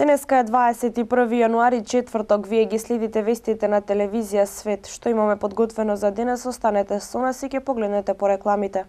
Денеска е 21 јануари, четврток. Вие ги следите вестите на телевизија Свет. Што имаме подготвено за денес, останете со нас и ќе погледнете по рекламите.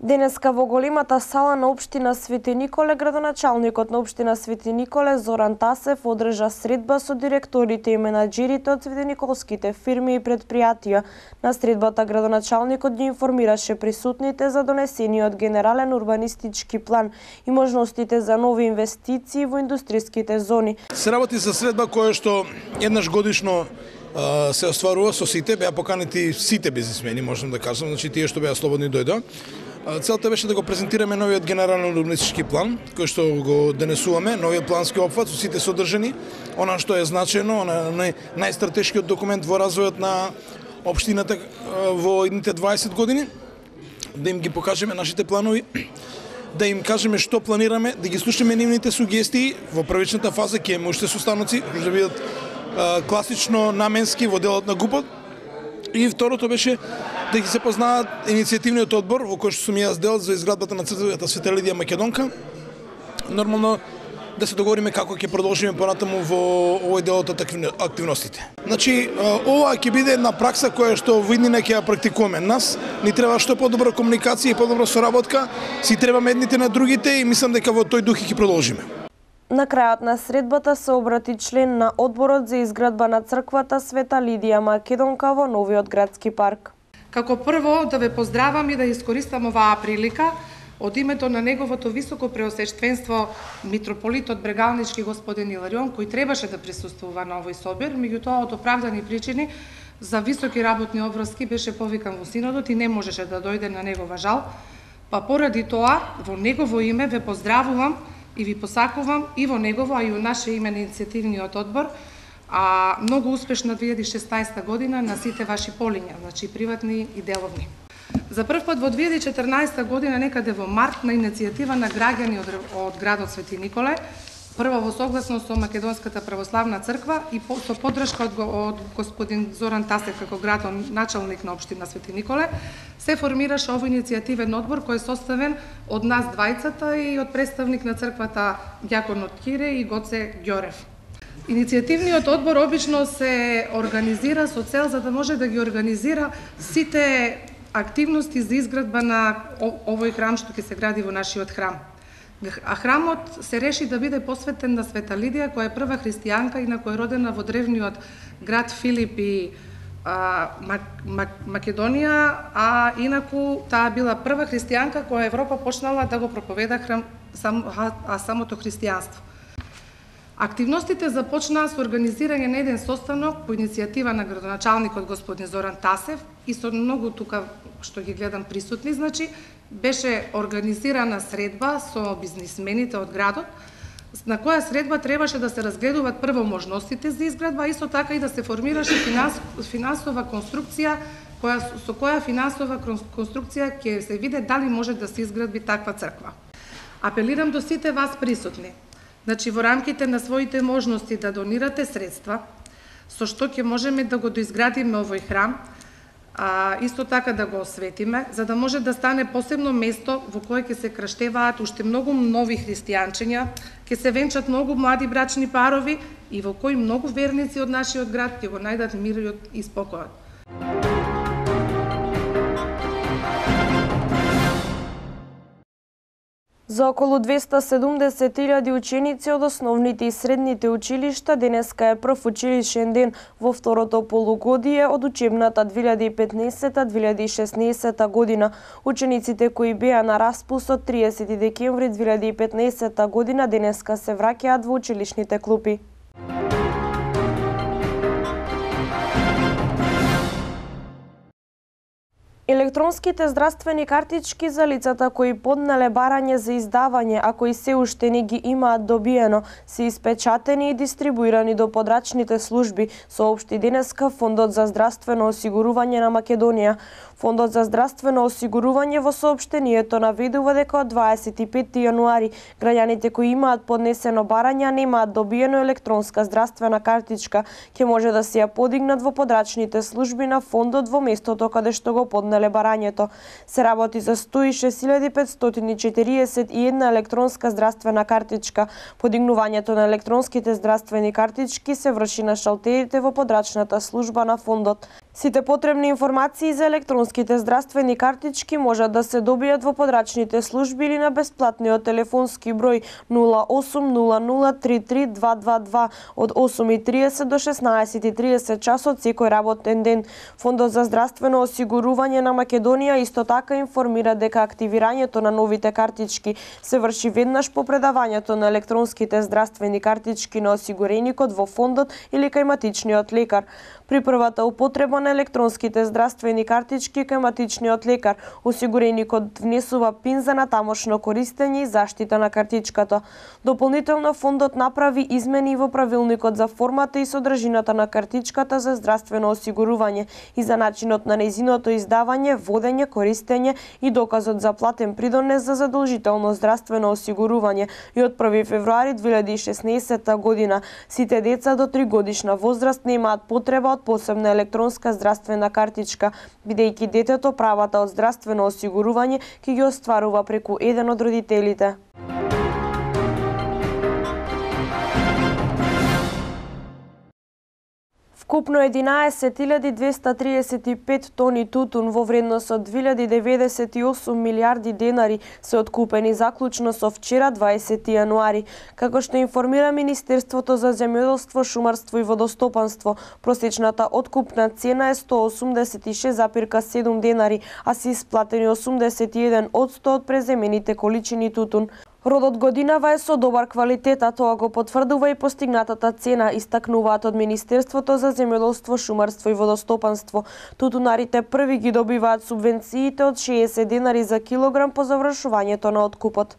Денеска во големата сала на општина Свети Николе, градоначалникот на општина Свети Николе Зоран Тасев одржа средба со директорите и менаџерите од светиниколските фирми и предпријатија. На средбата градоначалникот ги информираше присутните за донесениот генерален урбанистички план и можностите за нови инвестиции во индустријските зони. Се работи за средба која што еднаш годишно се остварува со сите, беа поканети сите бизнисмени, можам да кажам, значи тие што беа слободни дојдоа. Целта беше да го презентираме новиот генерален урбанистички план, кој што го денесуваме, новиот плански опфат со сите содржини, она што е значено, најстратешкиот документ во развојот на општината во идните 20 години, да им ги покажеме нашите планови, да им кажеме што планираме, да ги слушаме нивните сугестии. Во првичната фаза ќе имаме уште состаноци, кои ќе бидат класично наменски во делот на ГУП-от. И второто беше да ги се познаат иницијативниот одбор во кој што сум јас дел за изградбата на црквата Света Лидија Македонка. Нормално да се договориме како ќе продолжиме понатаму во овој дел од активностите. Значи, ова ќе биде една пракса која што во иднина ќе ја практикуваме. Нас ни треба што подобра комуникација и подобра соработка, си требаме едните на другите и мислам дека во тој дух ќе продолжиме. На крајот на средбата се обрати член на одборот за изградба на црквата Света Лидија Македонка во новиот градски парк. Како прво да ве поздравам и да искористам оваа прилика од името на неговото високо преосвещенство митрополитот Брегалнички господин Иларион, кој требаше да присуствува на овој собир, меѓутоа од оправдани причини за високи работни обврски беше повикан во синодот и не можеше да дојде на негова жал. Па поради тоа, во негово име ве поздравувам и ви посакувам и во негово, а и во наше име на иницијативниот одбор, многу успешна 2016 година на сите ваши полиња, значи приватни и деловни. За прв пат во 2014 година, некаде во март, на иницијатива на граѓани од градот Свети Николе, прво во согласност со Македонската православна црква и со поддршка од господин Зоран Тасев како градоначалник на општина Свети Николе, се формираше овој иницијативен одбор кој е составен од нас двајцата и од представник на црквата ѓаконот Кире и Гоце Ѓорев. Иницијативниот одбор обично се организира со цел за да може да ги организира сите активности за изградба на овој храм што ќе се гради во нашиот храм. А храмот се реши да биде посветен на Света Лидија, која е прва христијанка и на која е родена во древниот град Филип и Македонија, а инаку таа била прва христијанка која Европа почнала да го проповеда самото христијанство. Активностите започнаа со организирање на еден состанок по иницијатива на градоначалникот господин Зоран Тасев и со многу тука што ги гледам присутни, значи беше организирана средба со бизнисмените од градот, на која средба требаше да се разгледуваат прво можностите за изградба, а исто така и да се формираше финансова конструкција, со која финансова конструкција ќе се види дали може да се изгради таква црква. Апелирам до сите вас присутни, значи во рамките на своите можности да донирате средства, со што ќе можеме да го доизградиме овој храм, исто така да го осветиме, за да може да стане посебно место во кое ќе се крштеваат уште многу нови христијанчиња, ќе се венчат многу млади брачни парови и во кои многу верници од нашиот град ќе го најдат мирот и спокојот. За околу 270.000 ученици од основните и средните училишта денеска е прв училишен ден во второто полугодие од учебната 2015-2016 година. Учениците кои беа на распуст од 30 декември 2015 година денеска се враќаат во училишните клупи. Електронските здравствени картички за лицата кои поднале барање за издавање, а кои се уште не ги имаат добиено, се испечатени и дистрибуирани до подрачните служби, соопшти денеска Фондот за здравствено осигурување на Македонија. Фондот за здравствено осигурување во соопштението наведува дека од 25 јануари граѓаните кои имаат поднесено барање немаат добиено електронска здравствена картичка, ќе може да се ја подигнат во подрачните служби на фондот во местото каде што го поднале барањето. Се работи за 106.541 електронска здравствена картичка. Подигнувањето на електронските здравствени картички се врши на шалтерите во подрачната служба на фондот. Сите потребни информации за електронските здравствени картички можат да се добијат во подрачните служби или на бесплатниот телефонски број 0800332222 од 8:30 до 16:30 часот секој работен ден. Фондот за здравствено осигурување на Македонија исто така информира дека активирањето на новите картички се врши веднаш по предавањето на електронските здравствени картички на осигуреникот во фондот или кај матичниот лекар. При првата употреба на електронските здравствени картички кај матичниот лекар, осигуреникот внесува пин за натамошно користење и заштита на картичката. Дополнително фондот направи измени во правилникот за формата и содржината на картичката за здравствено осигурување и за начинот на нејзиното издавање, водење, користење и доказот за платен придонес за задолжително здравствено осигурување. И од 1 февруари 2016 година сите деца до 3 годишна возраст немаат потреба од посебна електронска здравствена картичка, бидејќи детето правата од здравствено осигурување ќе ги остварува преку еден од родителите. Вкупно 11.235 тони тутун во вредност од 2098 милиарди денари се откупени заклучно со вчера 20 јануари. Како што информира Министерството за земјоделство, шумарство и водостопанство, просечната откупна цена е 186,7 денари, а се исплатени 81% од преземените количини тутун. Родот годинава е со добар квалитет, а тоа го потврдува и постигнатата цена, истакнуваат од Министерството за земјоделство, шумарство и водостопанство. Тутунарите први ги добиваат субвенциите од 60 денари за килограм по завршувањето на откупот.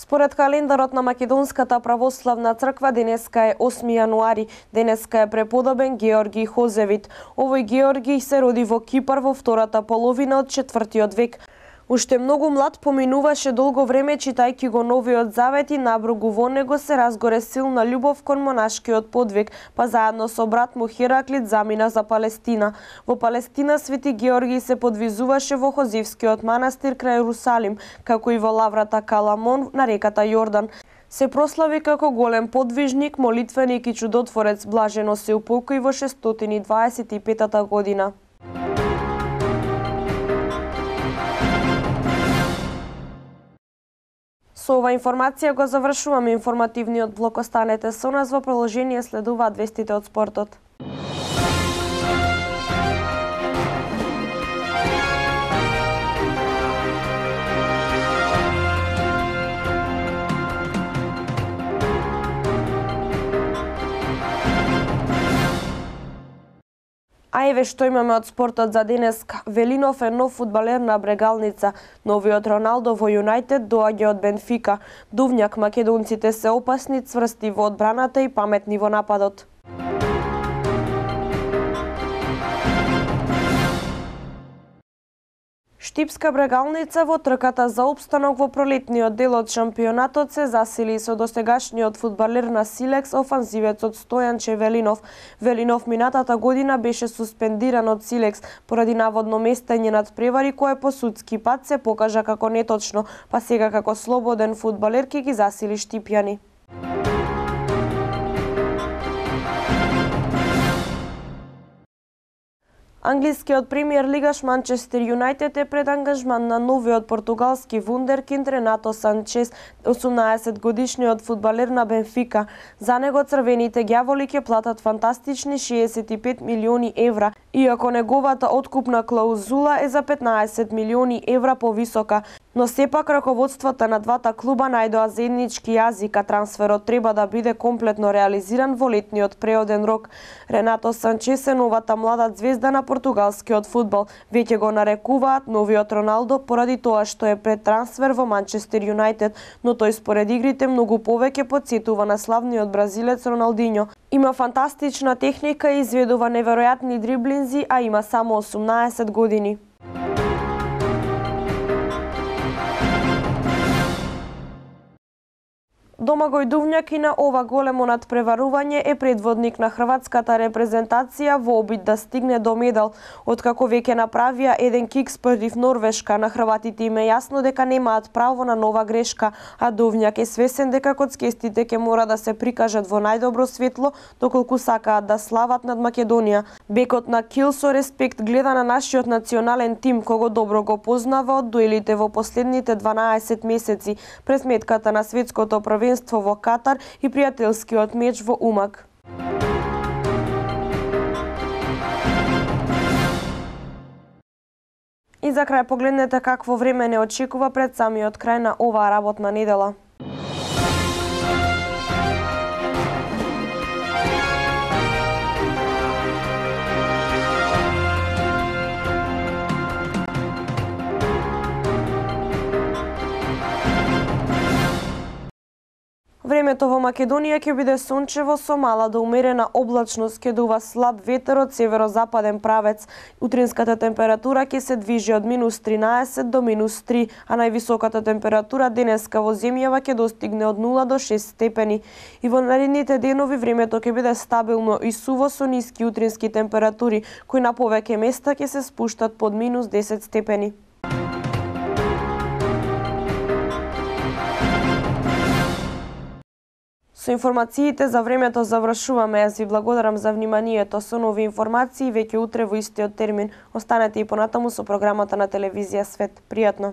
Според календарот на Македонската православна црква денеска е 8 јануари. Денеска е преподобен Георгиј Хозевит. Овој Георгиј се роди во Кипар во втората половина од 4 век. Уште многу млад поминуваше долго време читајќи го Новиот Завет и наброгу во него се разгоре силна љубов кон монашкиот подвиг, па заедно со брат му Хераклит замина за Палестина. Во Палестина Свети Георгиј се подвизуваше во Хозевскиот манастир крај Ерусалим, како и во лаврата Каламон на реката Јордан. Се прослави како голем подвижник, молитвеник и чудотворец, блажено се упокои во 625 година. Со ова информација го завршуваме информативниот блок. Останете со нас, во продолжение следуваат вестите од спортот. А еве што имаме од спортот за денеска. Велинов е нов фудбалер на Брегалница. Новиот Роналдо во Юнајтед доаѓа од Бенфика. Дувњак, македонците се опасни, цврсти во одбраната и паметни во нападот. Штипска Брегалница во трката за опстанок во пролетниот дел од шампионатот се засили со досегашниот фудбалер на Силекс, офанзивецот Стојанче Велинов. Велинов минатата година беше суспендиран од Силекс поради наводно местење над превари кое по судски пат се покажа како неточно, па сега како слободен фудбалер ќе ги засили штипјани. Англискиот премиер лигаш Манчестер Юнајтед е пред ангажман на новиот португалски вундеркинд Ренато Санчес, 18-годишниот фудбалер на Бенфика. За него црвените ѓаволи ќе платат фантастични 65 милиони евра, иако неговата откупна клаузула е за 15 милиони евра повисока. Но сепак раководствата на двата клуба најдоа заеднички јазик, а трансферот треба да биде комплетно реализиран во летниот преоден рок. Ренато Санчес е новата млада звезда на португалскиот фудбал. Веќе го нарекуваат новиот Роналдо поради тоа што е пред трансфер во Манчестер Юнајтед, но тој според игрите многу повеќе потсетува на славниот бразилец Роналдиньо. Има фантастична техника и изведува неверојатни дриблинзи, а има само 18 години. Домагој Дувњак и на ова големо надпреварување е предводник на хрватската репрезентација во обид да стигне до медал. Откако веќе направија еден кикс против Норвешка, на хрватите им е јасно дека немаат право на нова грешка, а Дувњак е свесен дека коцкестите ќе мора да се прикажат во најдобро светло доколку сакаат да слават над Македонија. Бекот на Кил со респект гледа на нашиот национален тим, кого добро го познава од дуелите во последните 12 месеци, пред сметката на светското првенство во Катар и пријателскиот меч во Умаг. И за крај погледнете какво време не очекува пред самиот крај на оваа работна недела. Времето во Македонија ќе биде сончево со мала до умерена облачност, ќе дува слаб ветер од северозападен правец. Утринската температура ќе се движи од -13 до -3, а највисоката температура денеска во земјава ќе достигне од 0 до 6 степени. И во наредните денови времето ќе биде стабилно и суво со ниски утрински температури, кои на повеќе места ќе се спуштат под -10 степени. Со информациите за времето завршуваме. Јас ви благодарам за вниманието. Со нови информации веќе утре во истиот термин. Останете и понатаму со програмата на телевизија Свет. Пријатно!